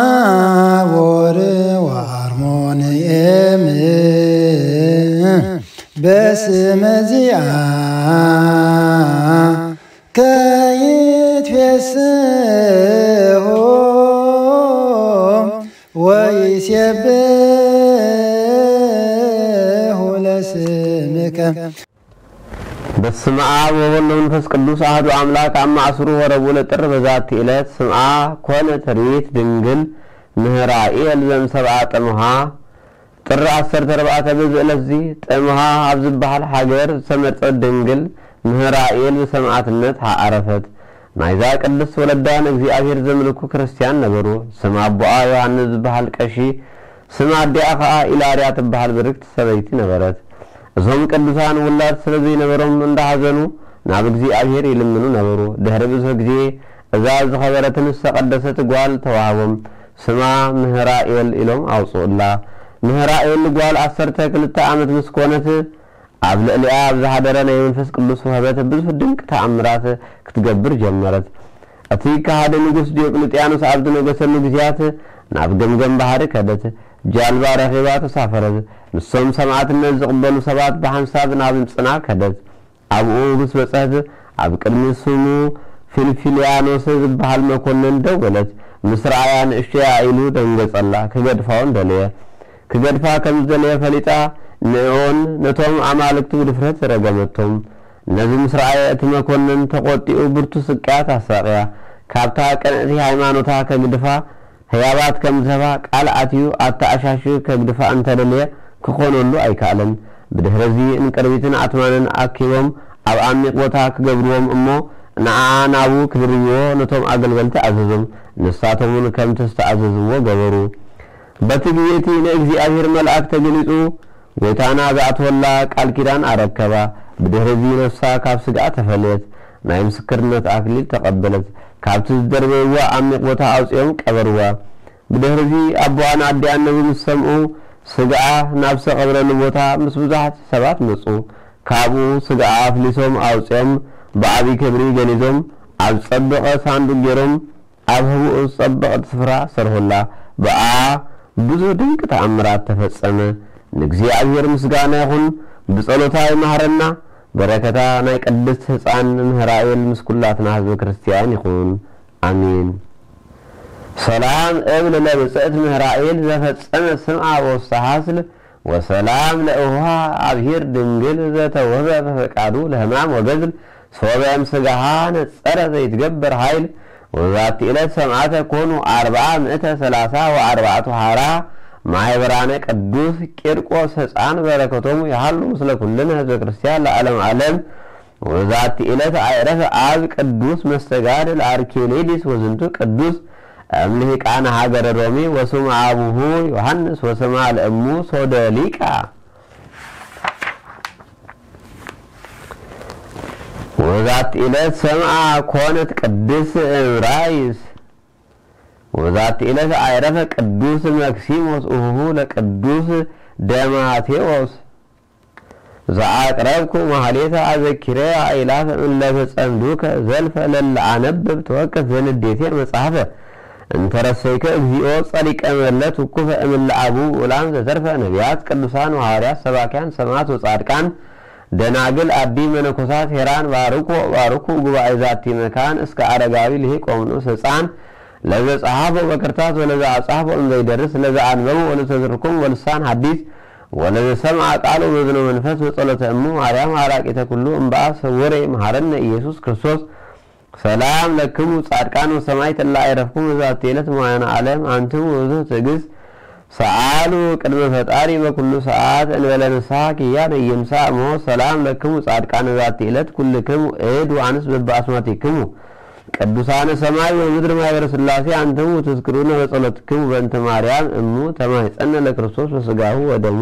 ታቦር ወአርሞንኤም በስመ ዚአ ከይትፌስሑ ወይሴብሑ ለስምከ። በስመ አብ ወወልድ ወመንፈስ ቅዱስ አሐዱ አምላክ። አብ ማእስሩ ወረቡዕ ለጥር በዛቲ ዕለት ስምዓ ኮነት ርኢት ድንግል ምህራኤል ዘምሰብአ ጥምሃ። ጥር ዓሰርተ ኣርባዕተ በዚ ዕለት እዚ ጥምሃ ኣብ ዝበሃል ሃገር ዝተመርጸት ድንግል ምህራኤል ብሰማዕትነት ዓረፈት። ናይዛ ቅድስት ወለዳ ንእግዚኣብሔር ዘምልኩ ክርስትያን ነበሩ። ስም ኣቦኣ ዮሃንስ ዝበሃል ቀሺ፣ ስም ኣዲኣ ኸኣ ኢላርያ ትበሃል ብርክቲ ሰበይቲ ነበረት። እዞም ቅዱሳን ውላድ ስለ ዘይነበሮም እንዳሓዘኑ ናብ እግዚኣብሔር ይልምኑ ነበሩ። ድሕሪ ብዙሕ ግዜ እዛ ዝኸበረትን ዝተቐደሰት ጓል ተዋህቦም። ስማ ምህራኤል ኢሎም ኣውጽኡላ። ምህራኤል ጓል ዓሰርተ ክልተ ዓመት ምስ ኮነት፣ ኣብ ልዕሊኣ ኣብ ዝሓደረ ናይ መንፈስ ቅዱስ ውህበት ብዙሕ ድንቅ ተኣምራት ክትገብር ጀመረት። እቲ ከሃዲ ንጉስ ዲዮቅልጥያኖስ ኣብ ዝነገሰሉ ግዜያት ናብ ገምገም ባሕሪ ከደት። ጃልባ ረኺባ ተሳፈረት። ንሶም ሰማዕትነት ዝቕበሉ ሰባት ብሓንሳብ ናብ ምጽና ከደት። ኣብኡ ምስ በጽሐት ኣብ ቅድሚ ስሙ ፊልፊልያኖስ ዝበሃል መኮንን ደው በለት። ምስ ረኣያ ንእሽቶያ ኢሉ ደንገጸላ። ክገድፋውን ደለየ። ክገድፋ ከም ዝደለየ ፈሊጣ ንዕኦን ነቶም ኣማልክቱ ብድፍረት ረገመቶም። ነዚ ምስ ረኣየ እቲ መኮንን ተቖጢኡ ብርቱ ስቅያት ኣሳቕያ። ካብታ ቅንዕቲ ሃይማኖታ ከግድፋ ህያባት ከም ዝህባ ቃል ኣትዩ ኣተኣሻሽዩ ከግድፋ እንተደለየ ክኾነሉ ኣይከኣለን። ብድሕሪ እዚ እንቅርቢትን ኣትማንን ኣኪቦም ኣብ ዓሚቕ ቦታ ክገብርዎም እሞ ንዓኣ ናብኡ ክድርብዎ ነቶም ኣገልገልቲ ኣዘዞም። ንሳቶም እውን ከምቲ ዝተኣዘዝዎ ገበሩ። በቲ ግዜ እቲ ንእግዚኣብሔር መልኣክ ተገሊጹ ጎይታና ዝኣትወላ ቃል ኪዳን ኣረከባ። ብድሕሪ እዚ ነፍሳ ካብ ስግኣ ተፈልየት፣ ናይ ምስክርነት ኣክሊል ተቐበለት። ካብቲ ዝደርበይዋ ዓሚቕ ቦታ ኣውጺኦም ቀበርዋ። ብድሕሪ እዚ ኣቦኣን ኣዲኣን ነዚ ምስ ሰምኡ ስግኣ ናብ ዝተቐብረሉ ቦታ ምስ ብዙሓት ሰባት መጹ። ካብኡ ስግኣ ኣፍሊሶም ኣውጺኦም ብዓቢ ክብሪ ገኒዞም ኣብ ዝጸበቐ ሳንዱቕ ገይሮም ኣብ ህቡእ ዝጸበቐት ስፍራ ሰርሑላ። ብኣ ብዙሕ ድንቂ ተኣምራት ተፈጸመ። ንእግዚኣብሔር ምስጋና ይኹን፣ ብጸሎታ ይማህረና። በረከታ ናይ ቅድስት ህፃን ምህራኤል ምስ ኩላትና ህዝበ ክርስቲያን ይኹን። ኣሜን። ሰላም እብል ለብፅዕት ምህራኤል ዘፈጸመ ስምዓ ወፍስሐ ስል ወሰላም ለእሁሃ ኣብሂር ድንግል ዘተወህበ በፈቃዱ ለህማም ወገዝል ሶበ እምስጋሃ ነጸረ ዘይትገበር ኃይል። ወዛቲ ዕለት ሰማዕተ ኮኑ አርብዓ ምእተ ሰላሳ ወአርባዕቱ ሐራ ማይበራነ ቅዱስ ቂርቆስ ሕፃን በረከቶሙ ይሃሉ ምስለ ኩልነ ህዝበ ክርስቲያን ለዓለም ዓለም። ወዛቲ ዕለት አይረፈ አብ ቅዱስ መስተጋድል አርኬሌዲስ ወዝንቱ ቅዱስ እምልሂቃነ ሀገረ ሮሜ ወስሙ አቡሁ ዮሐንስ ወስማ ለእሙ ሶደሊቃ። ወዛቲ ዕለት ሰምአ ኮነት ቅድስ እምራይስ። ወዛቲ ዕለት አይረፈ ቅዱስ መክሲሞስ እሁሁ ለቅዱስ ደማቴዎስ። ዘአቅረብኩ ማህሌተ አዘኪረ አእላፈ እለ ተጸምዱከ ዘልፈ ለለ አነብብ ተወከፍ ዘንዴቴ መጽሐፈ። እንተረሰይከ እግዚኦ ጸሪቀ መለት ውኩፈ እምለ አቡ ውላን ዘተርፈ ነቢያት ቅዱሳን ወሐዋርያት ሰባኪያን ሰማዕት ወጻድቃን ደናግል አዲ መነኮሳት ሄራን ባርኮ ባርኩ ጉባኤ ዛቲ መካን እስከ አረጋዊ ልሂቅ ወምንኡስ ህፃን ለዘ ጸሐፎ በክርታስ ወለዘ አጻፎ እንዘይደርስ ለዘ አንበቡ ወለተዝርኩም ወልሳን ሐዲስ ወለዘ ሰምዐ ቃሉ በዝነ መንፈስ በጸሎተ እሙ ማርያም አራቂተ ኩሉ እምበአ ሰውሬ መሐረነ ኢየሱስ ክርስቶስ። ሰላም ለክሙ ጻድቃን ወሰማዕት እለ አይረፍኩም በዛቲ ዕለት መዋያነ ዓለም አንትሙ ብዙህ ትዕግስት ሰአሉ ቅድመ ፈጣሪ በኩሉ ሰዓት እንበለ ንስሐ ኪያነ ይንሳእ ሞ። ሰላም ለክሙ ጻድቃን በዛቲ ዕለት ኩልክሙ እድ ወአንስት በበአስማቲክሙ ቅዱሳነ ሰማይ ወምድር ማህበረ ሥላሴ አንትሙ ትዝክሩነ በጸሎትክሙ በእንተ ማርያም እሙ ተማይጸነ ለክርስቶስ በስጋሁ ወደሙ።